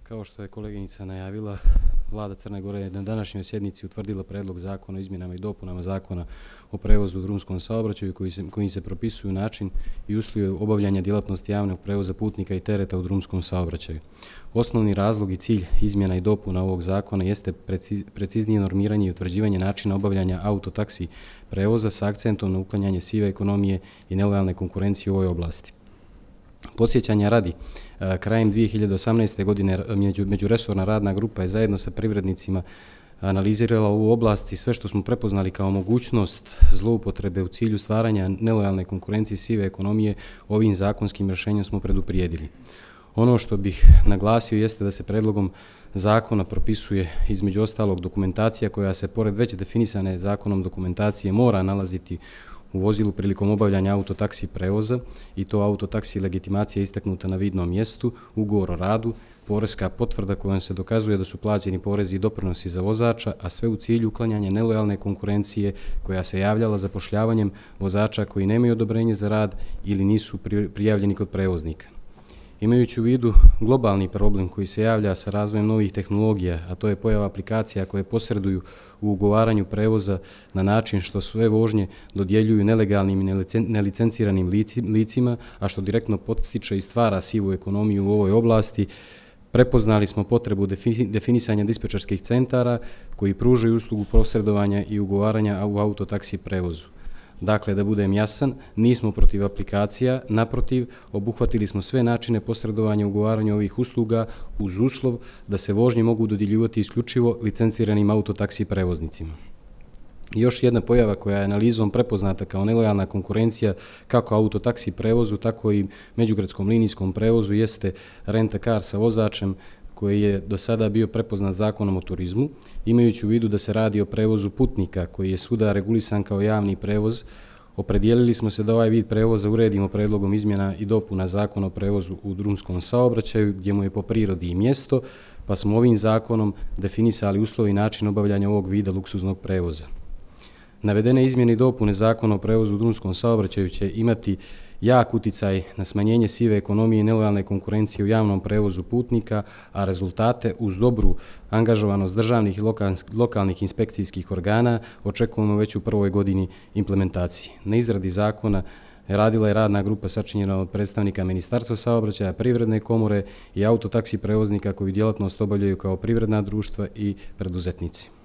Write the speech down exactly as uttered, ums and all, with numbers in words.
Kao što je koleginica najavila, Vlada Crne Gore je na današnjoj sjednici utvrdila predlog zakona o izmjenama i dopunama Zakona o prevozu u drumskom saobraćaju kojim se propisuju način i uslovi obavljanja djelatnosti javnog prevoza putnika i tereta u drumskom saobraćaju. Osnovni razlog i cilj izmjena i dopuna ovog zakona jeste preciznije normiranje i utvrđivanje načina obavljanja autotaksi prevoza s akcentom na uklanjanje sive ekonomije i nelojalne konkurencije u ovoj oblasti. Podsjećanja radi, krajem dvije hiljade osamnaeste. godine međuresorna radna grupa je zajedno sa privrednicima analizirala ovu oblast i sve što smo prepoznali kao mogućnost zloupotrebe u cilju stvaranja nelojalne konkurencije i sive ekonomije ovim zakonskim rješenjem smo preduprijedili. Ono što bih naglasio jeste da se predlogom zakona propisuje između ostalog dokumentacija koja se pored već definisane zakonom dokumentacije mora nalaziti u vozilu prilikom obavljanja autotaksi prevoza i to autotaksi legitimacija istaknuta na vidnom mjestu, ugovor o radu, poreska potvrda kojom se dokazuje da su plaćeni porezi i doprinosi za vozača, a sve u cilju uklanjanja nelojalne konkurencije koja se javljala zapošljavanjem vozača koji nemaju odobrenje za rad ili nisu prijavljeni kod prevoznika. Imajući u vidu globalni problem koji se javlja sa razvojem novih tehnologija, a to je pojava aplikacija koje posreduju u ugovaranju prevoza na način što sve vožnje dodjeljuju nelegalnim i nelicenciranim licima, a što direktno podstiče i stvara sivu ekonomiju u ovoj oblasti, prepoznali smo potrebu definisanja dispečerskih centara koji pružaju uslugu posredovanja i ugovaranja u autotaksi prevozu. Dakle, da budem jasan, nismo protiv aplikacija, naprotiv, obuhvatili smo sve načine posredovanja i ugovaranja ovih usluga uz uslov da se vožnje mogu dodjeljivati isključivo licenciranim autotaksi prevoznicima. Još jedna pojava koja je analizom prepoznata kao nelojalna konkurencija kako autotaksi prevozu, tako i međugradskom linijskom prevozu jeste rent-a-car sa vozačem koji je do sada bio prepoznat zakonom o turizmu, imajući u vidu da se radi o prevozu putnika koji je svuda regulisan kao javni prevoz. Opredijelili smo se da ovaj vid prevoza uredimo predlogom izmjena i dopuna Zakona o prevozu u drumskom saobraćaju gdje mu je po prirodi i mjesto, pa smo ovim zakonom definisali uslovi i način obavljanja ovog vida luksuznog prevoza. Navedene izmjene i dopune Zakona o prevozu u drumskom saobraćaju će imati jak uticaj na smanjenje sive ekonomije i nelojalne konkurencije u javnom prevozu putnika, a rezultate uz dobru angažovanost državnih i lokalnih inspekcijskih organa očekujemo već u prvoj godini implementacije. Na izradi zakona radila je radna grupa sačinjena od predstavnika Ministarstva saobraćaja, Privredne komore i autotaksi prevoznika koji djelatnost obavljaju kao privredna društva i preduzetnici.